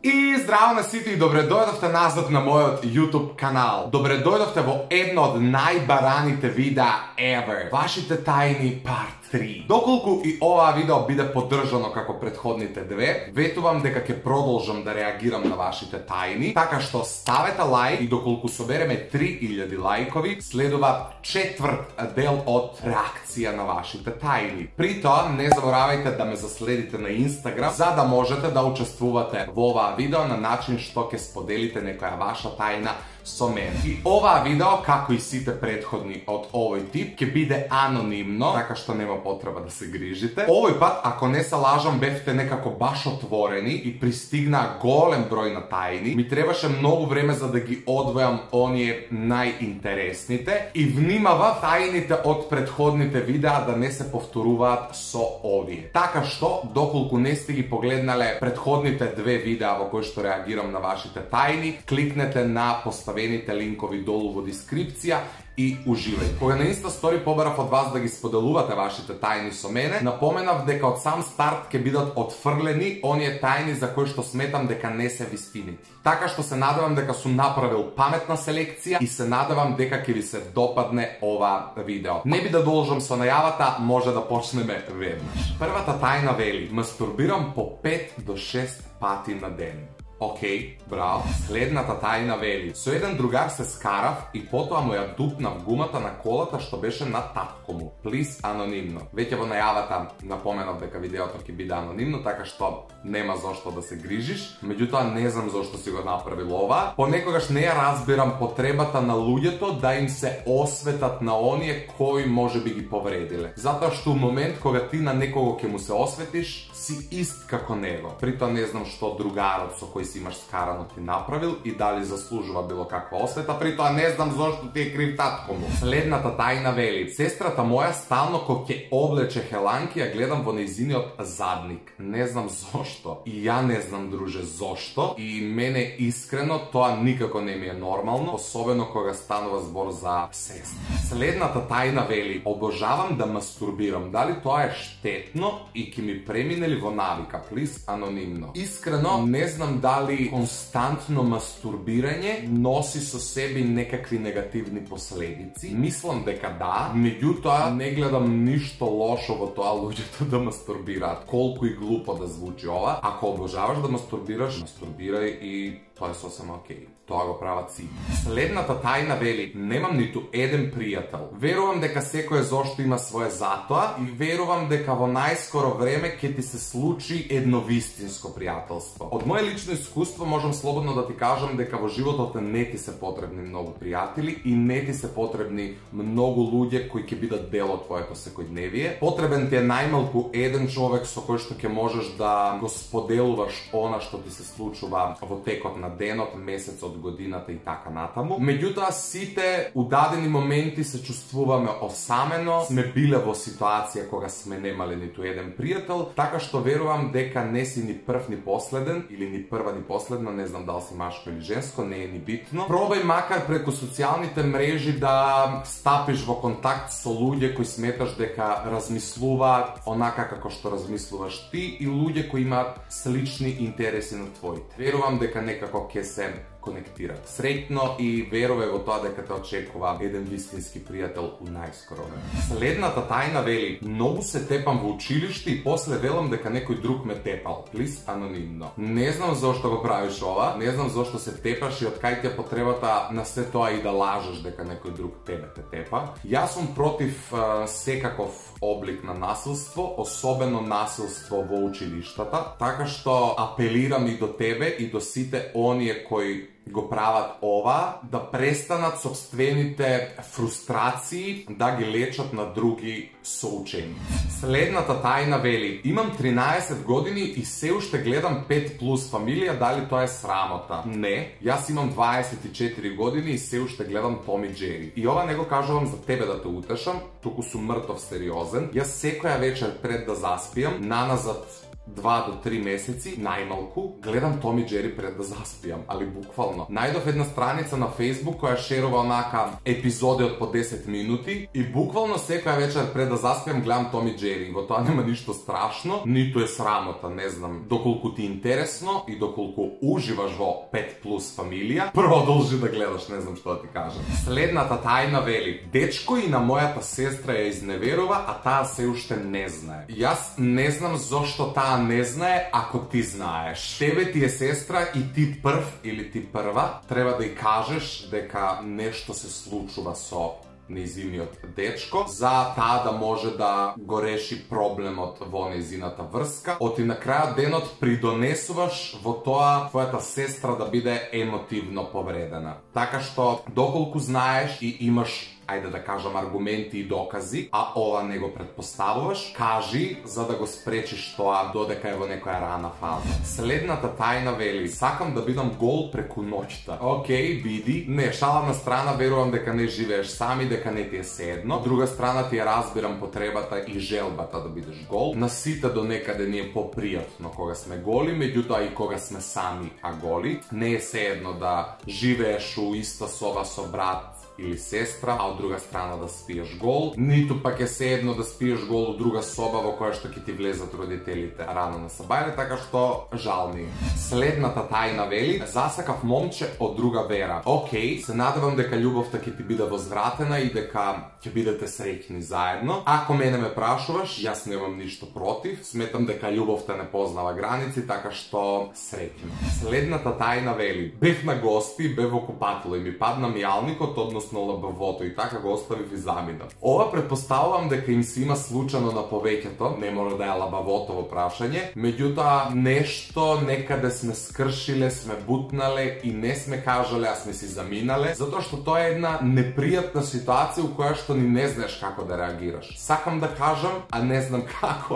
И здраво на сите и добре дојдовте назад на мојот YouTube канал. Добре дојдовте во едно од најбараните видеа ever. Вашите тајни part 3. Доколку и оваа видео биде поддржано како претходните две, ветувам дека ќе продолжам да реагирам на вашите тајни, така што ставете лајк и доколку собереме 3000 лајкови, следува четврт дел од реакција на вашите тајни. При тоа не заборавајте да ме заследите на Instagram за да можете да учествувате во оваа видео на начин што ќе споделите некоја ваша тајна со мене. И оваа видео, како и сите претходни од овој тип, ќе биде анонимно, така што нема потреба да се грижите. Овој пат, ако не се лажам, бевте некако баш отворени и пристигнаа голем број на тајни. Ми требаше многу време за да ги одвојам оние најинтересните и внимава тајните од претходните видеа да не се повторуваат со овие. Така што, доколку не сте ги погледнале претходните две видеа во кои што реагирам на вашите тајни, кликнете на поставените линкови долу во дескрипција и уживај. Кога на Инста стори побарав од вас да ги споделувате вашите тајни со мене, напоменав дека од сам старт ќе бидат отфрлени оние тајни за кои што сметам дека не се вистинити. Така што се надевам дека сум направил паметна селекција и се надевам дека ќе ви се допадне ова видео. Не би да должам со најавата, може да почнеме веднаш. Првата тајна вели: мастурбирам по 5 до 6 пати на ден. Океј, браво. Следната тајна вели: со еден другар се скарав и потоа му ја дупнав гумата на колата што беше на татко му. Плиз анонимно. Веќе во најавата напоменав дека видеото ќе биде анонимно, така што нема зошто да се грижиш. Меѓутоа не знам зошто си го направил ова. Понекогаш не ја разбирам потребата на луѓето да им се осветат на оние кои можеби ги повредиле. Затоа што у момент кога ти на некого ќе му се осветиш, си ист како него. Притоа не знам што другарот со кој си имаш скарано ти направил и дали заслужува било каква освета, притоа не знам зошто ти е крив татко му. Следната тајна вели: сестрата моја стално кога ќе облече хеланки ја гледам во нејзиниот задник. Не знам зошто. И ја не знам, друже, зошто. И мене искрено тоа никако не ми е нормално, особено кога станува збор за сестра. Следната тајна вели: обожавам да мастурбирам. Дали тоа е штетно и ќе ми премине ли во навика? Плиз анонимно. Искрено не знам дали константно мастурбирање носи со себе некакви негативни последици. Мислам дека да, меѓутоа не гледам ништо лошо во тоа луѓето да мастурбираат. Колку и глупо да звучи ова. Ако обожаваш да мастурбираш, мастурбирај и тоа е сосема окей. Тоа го прават си. Следната тајна вели: немам ниту еден пријател. Верувам дека секој зошто има свое затоа и верувам дека во најскоро време ќе ти се случи едно вистинско пријателство. Од моје лично искуство можам слободно да ти кажам дека во животот не ти се потребни многу пријатели и не ти се потребни многу луѓе кои ќе бидат дел од твоето секојдневие. Потребен ти е најмалку еден човек со кој што ќе можеш да го споделуваш она што ти се случува во текот на денот, месецот, годината и така натаму. Меѓутоа сите у дадени моменти се чувствуваме осамено, сме биле во ситуација кога сме немале ниту еден пријател, така што верувам дека не си ни прв ни последен или ни прва ни последна, не знам дали си машко или женско, не е ни битно. Пробај макар преку социјалните мрежи да стапиш во контакт со луѓе кои сметаш дека размислуваат онака како што размислуваш ти и луѓе кои имаат слични интереси на твоите. Верувам дека некако ќе се конектират. Среќно и верувам во тоа дека те очекува еден вистински пријател у најскоро време. Следната тајна вели: многу се тепам во училиште и после велам дека некој друг ме тепал. Плиз анонимно. Не знам зошто го правиш ова, не знам зошто се тепаш и од кај ти е потребата на се тоа и да лажеш дека некој друг тебе те тепа. Јас сум против секаков облик на насилство, особено насилство во училиштата, така што апелирам и до тебе и до сите оние кои го прават ова, да престанат собствените фрустрации да ги лечат на други соученици. Следната тајна вели: имам 13 години и се уште гледам 5 плюс фамилија, дали тоа е срамота? Не, јас имам 24 години и се уште гледам Том и Джери. И ова не го кажувам за тебе да те утешам, туку сум мртов сериозен. Јас секоја вечер пред да заспиам, наназад 2 до 3 месеци, најмалку, гледам Том и Џери пред да заспијам, али буквално. Најдов една страница на Facebook која шерува онака епизоди од по 10 минути и буквално секоја вечер пред да заспијам гледам Том и Џери. Во тоа нема ништо страшно, ниту е срамота, не знам. Доколку ти е интересно и доколку уживаш во 5 плюс фамилија, продолжи да гледаш, не знам што да ти кажам. Следната тајна вели: дечко и на мојата сестра ја изневерува, а таа се уште не знае. Јас не знам зошто таа не знае, ако ти знаеш. Тебе ти е сестра и ти прв или ти прва треба да ја кажеш дека нешто се случува со нејзиниот дечко, за таа да може да го реши проблемот во нејзината врска. Оти на крајот денот придонесуваш во тоа твојата сестра да биде емотивно повредена. Така што, доколку знаеш и имаш, ајде да кажам, аргументи и докази, а ова не го предпоставуваш, кажи за да го спречиш тоа додека е во некоја рана фаза. Следната тајна вели: сакам да бидам гол преку ноќта. Океј, биди. Не, шала на страна, верувам дека не живееш сами, дека не ти е седно. Од друга страна ти ја разбирам потребата и желбата да бидеш гол. На сите до некаде ни е попријатно кога сме голи, меѓутоа и кога сме сами а голи. Не е седно да живееш у иста соба со брат или сестра, а од друга страна да спиеш гол, ниту пак е седно да спиеш гол у друга соба во која што ќе ти влезат родителите рано на сабајле, така што жал ми. Следната тајна вели: засакав момче од друга вера. Океј, се надевам дека љубовта ќе ти биде возвратена и дека ќе бидете среќни заедно. Ако мене ме прашуваш, јас немам ништо против. Сметам дека љубовта не познава граници, така што среќно. Следната тајна вели: бев на гости, бев во купатило и ми падна мијалникот, односно лабавото, и така го оставив и заминав. Ова предпоставувам дека им се има случано на повеќето, не може да е лабавото во прашање, меѓутоа нешто некаде сме скршиле, сме бутнале и не сме кажале, а сме си заминале, затоа што тоа е една непријатна ситуација у која што ни не знаеш како да реагираш. Сакам да кажам, а не знам како.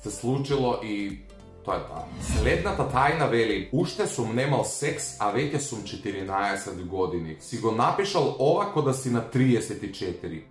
Се случило и тоа е тоа. Следната тајна вели: уште сум немал секс, а веќе сум 14 години. Си го напишал ова кога да си на 34.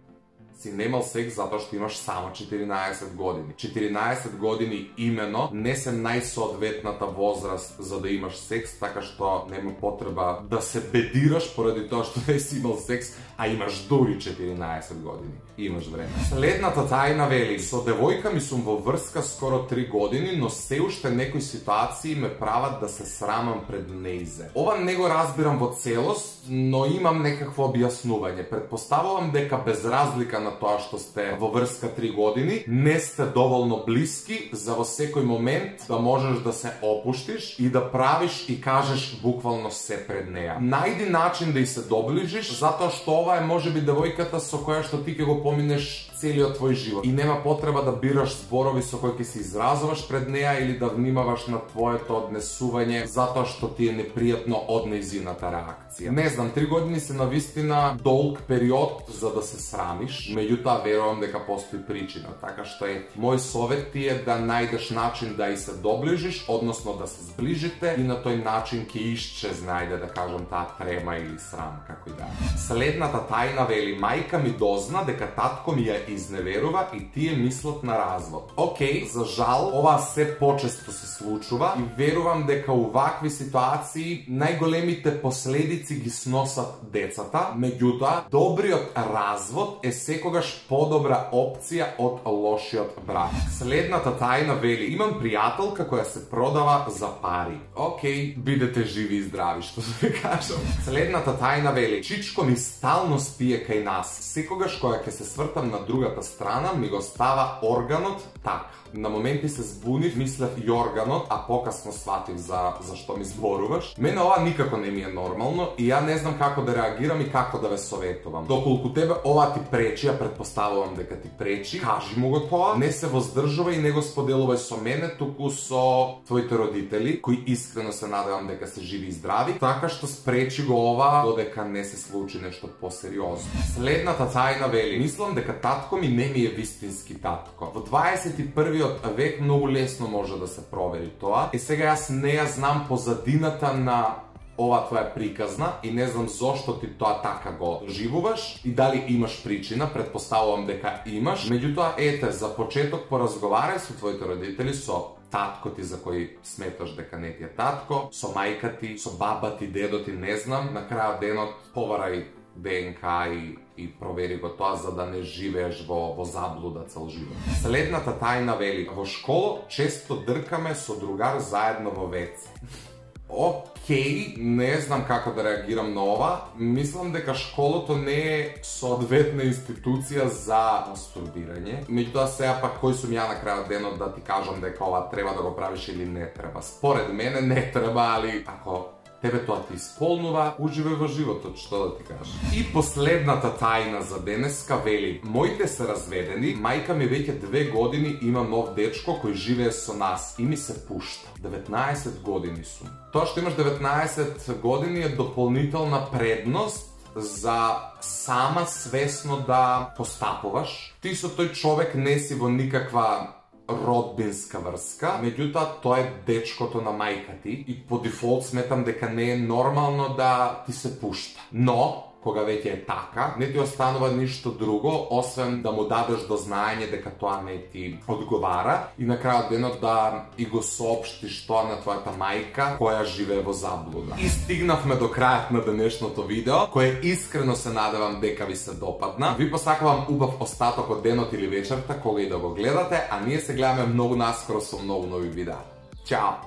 Си немал секс затоа што имаш само 14 години. 14 години имено не се најсоодветната возраст за да имаш секс, така што нема потреба да се бедираш поради тоа што не си имал секс, а имаш дури 14 години. Имаш време. Следната тајна вели: со девојка ми сум во врска скоро 3 години, но се уште некои ситуации ме прават да се срамам пред нејзе. Ова не го разбирам во целост, но имам некакво објаснување. Предпоставувам дека без разлика на тоа што сте во врска 3 години, не сте доволно блиски за во секој момент да можеш да се опуштиш и да правиш и кажеш буквално се пред неа. Најди начин да и се доближиш, затоа што ова е можеби девојката со која што ти ќе го поминеш целиот твој живот. И нема потреба да бираш зборови со кои ќе се изразуваш пред неа или да внимаваш на твоето однесување затоа што ти е непријатно од нејзината реакција. Не знам, 3 години се навистина долг период за да се срамиш, меѓутоа верувам дека постои причина, така што е мој совет ти е да најдеш начин да и се доближиш, односно да се сближите и на тој начин ќе исчезне, ајде да кажам, таа трема или срам, како и да. Следната тајна вели: мајка ми дозна дека татко ми ја изневерува и тие мислат на развод. Океј, за жал, ова се почесто се случува и верувам дека у вакви ситуации најголемите последици ги сносат децата, меѓутоа добриот развод е секогаш подобра опција од лошиот брак. Следната тајна вели: имам пријателка која се продава за пари. Океј, бидете живи и здрави, што да ви кажам. Следната тајна вели: чичко ми стално спие кај нас. Секогаш кога ќе се свртам на другата страна, ми го става органот така. На моменти се збунив, мислев јорганот, а покасно сватив за што ми зборуваш. Мене ова никако не ми е нормално и ја не знам како да реагирам и како да ве советувам. Доколку тебе ова ти пречи, ја предпоставувам дека ти пречи, кажи му го тоа, не се воздржувај и не го споделувај со мене, туку со твоите родители, кои искрено се надевам дека се живи и здрави, така што спречи го ова додека не се случи нешто посериозно. Следната тајна вели: мислам дека татко ми не ми е вистински татко. Во 21 век многу лесно може да се провери тоа. И сега јас не ја знам позадината на ова твоја приказна и не знам зошто ти тоа така го живуваш и дали имаш причина, предпоставувам дека имаш. Меѓутоа, ете, за почеток поразговарај со твоите родители, со татко ти за кој сметаш дека не ти е татко, со мајка ти, со баба ти, дедо ти, не знам, на крајот денот поварај ДНК и провери го тоа за да не живееш во заблуда цел живот. Следната тајна вели: во школа често дркаме со другар заедно во ВЦ. Океј, не знам како да реагирам на ова. Мислам дека школото не е соодветна институција за мастурбирање. Меѓутоа сега пак кој сум ја на крајот денот да ти кажам дека ова треба да го правиш или не треба. Според мене не треба, али ако тебе тоа ти исполнува, уживај во животот, што да ти кажам. И последната тајна за денеска вели: моите се разведени, мајка ми веќе 2 години има нов дечко кој живее со нас и ми се пушта. 19 години сум. Тоа што имаш 19 години е дополнителна предност за сама свесно да постапуваш. Ти со тој човек не си во никаква родбинска врска, меѓутоа тоа е дечкото на мајка ти и по дефолт сметам дека не е нормално да ти се пушта. Но кога веќе е така, не ти останува ништо друго освен да му дадеш до знаење дека тоа не ти одговара и на крајот денот да и го соопштиш тоа на твојата мајка која живее во заблуда. И стигнавме до крајот на денешното видео, кое искрено се надевам дека ви се допадна. Ви посакувам убав остаток од денот или вечерта кога и да го гледате, а ние се гледаме многу наскоро со многу нови видеа. Чао!